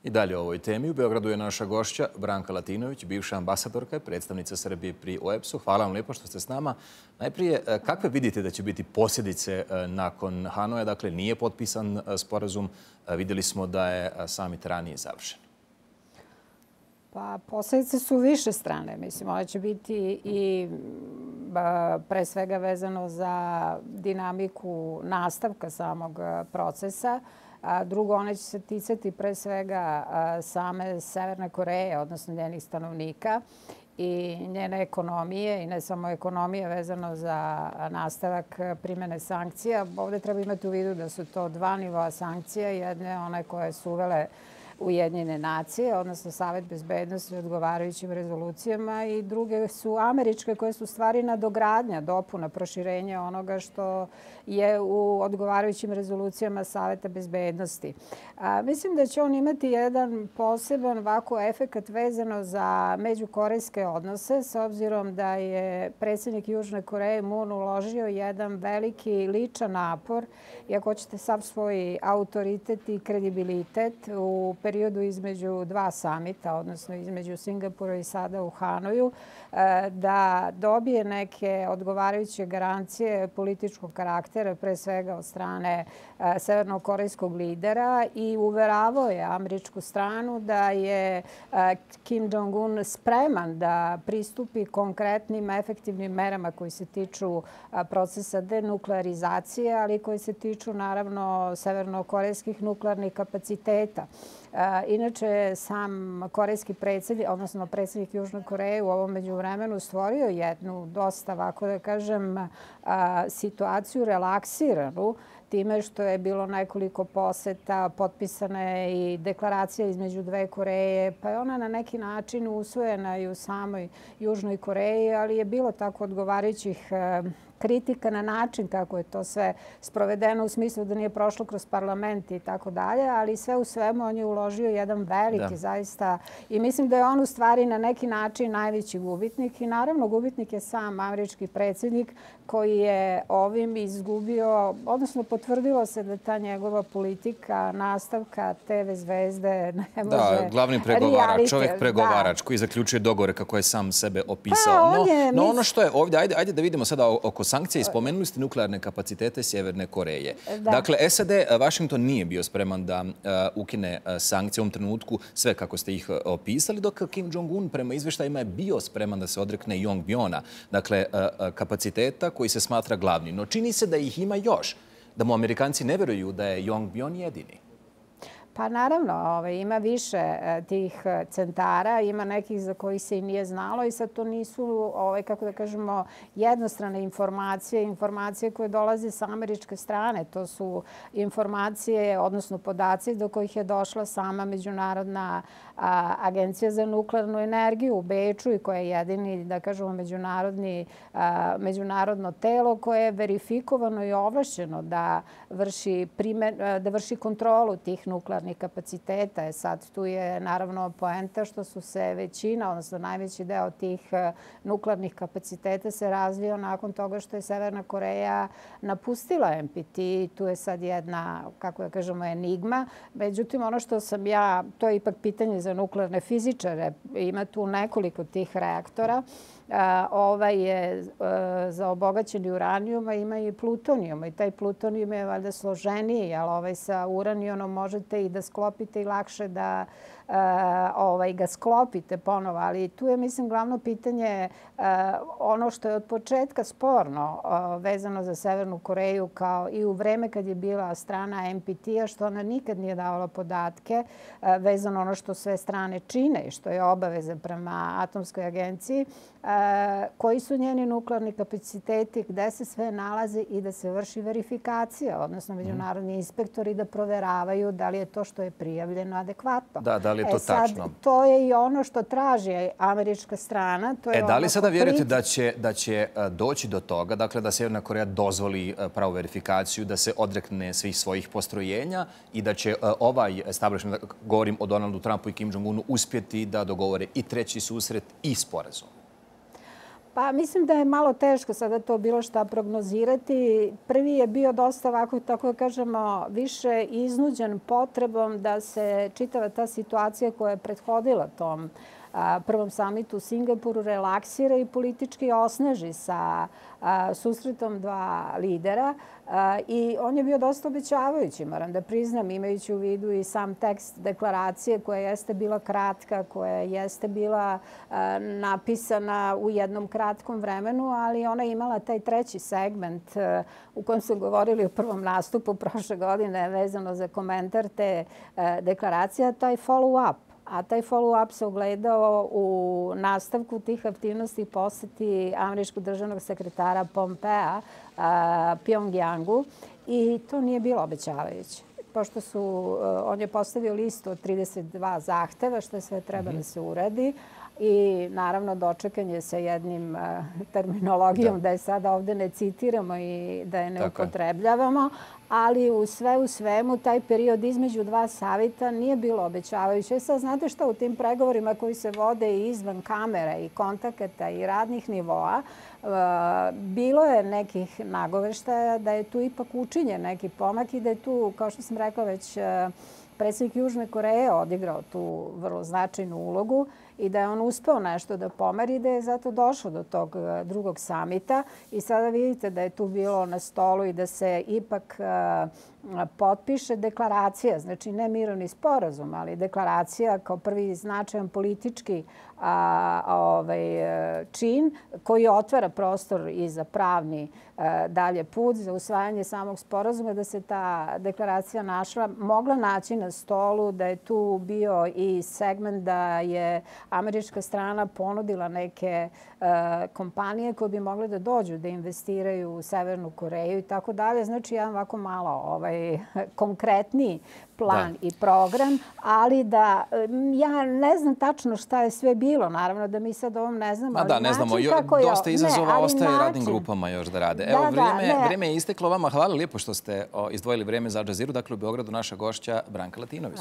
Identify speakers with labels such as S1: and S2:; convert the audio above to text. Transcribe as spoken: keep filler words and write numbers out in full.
S1: I dalje o ovoj temi. U Beogradu je naša gošća Branka Latinović, bivša ambasadorka i predstavnica Srbije pri O E B S-u. Hvala vam lijepo što ste s nama. Najprije, kakve vidite da će biti posljedice nakon Hanoja? Dakle, nije potpisan sporazum. Vidjeli smo da je samit ranije završen.
S2: Pa, posljedice su više strane. Mislim, one će biti i pre svega vezano za dinamiku nastavka samog procesa. Drugo, one će se ticati pre svega same Severne Koreje, odnosno njenih stanovnika i njene ekonomije, i ne samo ekonomije vezano za nastavak primjene sankcija. Ovdje treba imati u vidu da su to dva nivoa sankcija. Jedne one koje su uvele Ujedinjene nacije, odnosno Savet bezbednosti odgovarajućim rezolucijama, i druge su američke koje su stvari nadogradnja, dopuna, proširenja onoga što je u odgovarajućim rezolucijama Saveta bezbednosti. A, mislim da će on imati jedan poseban ovako efekat vezano za međukorejske odnose, s obzirom da je predsjednik Južne Koreje Moon uložio jedan veliki ličan napor, i ako hoćete sav svoj autoritet i kredibilitet u periodu između dva samita, odnosno između Singapura i sada u Hanoju, da dobije neke odgovarajuće garancije političkog karaktera, pre svega od strane severnokorejskog lidera, i uveravao je američku stranu da je Kim Jong-un spreman da pristupi konkretnim efektivnim merama koji se tiču procesa denuklearizacije, ali koji se tiču naravno severnokorejskih nuklearnih kapaciteta. Inače, sam korejski predsjednik, odnosno predsjednik Južne Koreje u ovom međuvremenu stvorio jednu dosta, ovako da kažem, situaciju relaksiranu time što je bilo nekoliko poseta, potpisana je i deklaracija između dve Koreje, pa je ona na neki način usvojena i u samoj Južnoj Koreji, ali je bilo tako odgovarajućih kritika na način kako je to sve sprovedeno, u smislu da nije prošlo kroz parlament i tako dalje, ali sve u svemu on je uložio jedan veliki zaista, i mislim da je on u stvari na neki način najveći gubitnik, i naravno gubitnik je sam američki predsjednik koji je ovim izgubio, odnosno potvrdilo se da ta njegova politika nastavka te ve zvezde ne može...
S1: Da, glavni pregovarač, čovjek pregovarač koji zaključuje dogovore kako je sam sebe opisao. No ono što je ovdje, ajde da vidimo sada oko sankcija, i spomenuli ste nuklearne kapacitete Sjeverne Koreje. Dakle, S A D, Washington nije bio spreman da ukine sankcije u ovom trenutku, sve kako ste ih opisali, dok Kim Jong-un prema izvještajima je bio spreman da se odrekne Yongbyon-a, dakle kapaciteta koji se smatra glavnim. No čini se da ih ima još, da mu Amerikanci ne vjeruju da je Yongbyon jedini.
S2: Pa naravno, ima više tih centara, ima nekih za kojih se i nije znalo, i sad to nisu, kako da kažemo, jednostrane informacije, informacije koje dolaze sa američke strane. To su informacije, odnosno podaci do kojih je došla sama Međunarodna agencija za nuklearnu energiju u Beču, i koja je jedini, da kažemo, međunarodno telo koje je verifikovano i ovlašćeno da vrši kontrolu tih nuklearnih kapaciteta. Sad tu je naravno poenta što su se većina, odnosno najveći deo tih nuklearnih kapaciteta se razvio nakon toga što je Severna Koreja napustila N P T. Tu je sad jedna, kako da kažemo, enigma. Međutim, ono što sam ja, to je ipak pitanje za nuklearne fizičare, ima tu nekoliko tih reaktora. Ovaj je za obogaćeni uranijum, a ima i plutonijum. I taj plutonijum je valjda složeniji, ali ovaj sa uranijumom možete i da sklopite i lakše da ga sklopite ponovo. Ali tu je, mislim, glavno pitanje ono što je od početka sporno vezano za Severnu Koreju, kao i u vreme kad je bila strana N P T-a, što ona nikad nije davala podatke vezano ono što sve strane čine i što je obaveza prema Atomskoj agenciji, koji su njeni nuklearni kapaciteti, gde se sve nalazi, i da se vrši verifikacija, odnosno međunarodni inspektori da proveravaju da li je to što je prijavljeno adekvatno.
S1: Da, da li je to tačno?
S2: To je i ono što traži američka strana.
S1: Da li sada vjerujete da će doći do toga, dakle da Sjeverna Koreja dozvoli pravu verifikaciju, da se odrekne svih svojih postrojenja i da će ovaj establishment, govorim o Donaldu Trumpu i Kim Jong-unu, uspjeti da dogovore i treći susret i sporazum?
S2: Pa mislim da je malo teško sada to bilo šta prognozirati. Prvi je bio dosta ovako, tako da kažemo, više iznuđen potrebom da se čitava ta situacija koja je prethodila tom prvom samitu u Singapuru relaksira i politički osnaži sa susretom dva lidera. I on je bio dosta obećavajući, moram da priznam, imajući u vidu i sam tekst deklaracije koja jeste bila kratka, koja jeste bila napisana u jednom kratkom vremenu, ali ona je imala taj treći segment u kojem su govorili o prvom nastupu prošle godine vezano za komentar te deklaracije, to je follow-up. A taj follow-up se ogledao u nastavku tih aktivnosti poseti američkog državnog sekretara Pompea Pjongjangu i to nije bilo obećavajuće. Pošto su, on je postavio listu od trideset dva zahteva što sve treba da se uradi i naravno dočekan je sa jednim terminologijom da je sada ovde ne citiramo i da je ne upotrebljavamo, ali u sve u svemu taj period između dva savita nije bilo obećavajuće. Sad znate šta, u tim pregovorima koji se vode i izvan kamere i kontakata i radnih nivoa, bilo je nekih nagoveštaja da je tu ipak učinjen neki pomak i da je tu, kao što sam rekla već, predsjednik Južne Koreje odigrao tu vrlo značajnu ulogu i da je on uspeo nešto da pomeri i da je zato došao do tog drugog samita. I sada vidite da je tu bilo na stolu i da se ipak potpiše deklaracija, znači ne mirovni sporazum, ali deklaracija kao prvi značajan politički čin koji otvara prostor i za pravni dalje put, za usvajanje samog sporazuma, da se ta deklaracija našla, mogla naći na stolu, da je tu bio i segment da je američka strana ponudila neke kompanije koje bi mogle da dođu da investiraju u Severnu Koreju i tako dalje. Znači, jedan ovako malo konkretniji plan i program, ali da ja ne znam tačno šta je sve bilo. Naravno da mi sad ovom ne znamo.
S1: Da, ne znamo. Dosta izazova ostaje radnim grupama još da rade. Evo, vrijeme je isteklo vama. Hvala lijepo što ste izdvojili vrijeme za Al Jazeeru. Dakle, u Beogradu naša gošća Branka Latinović.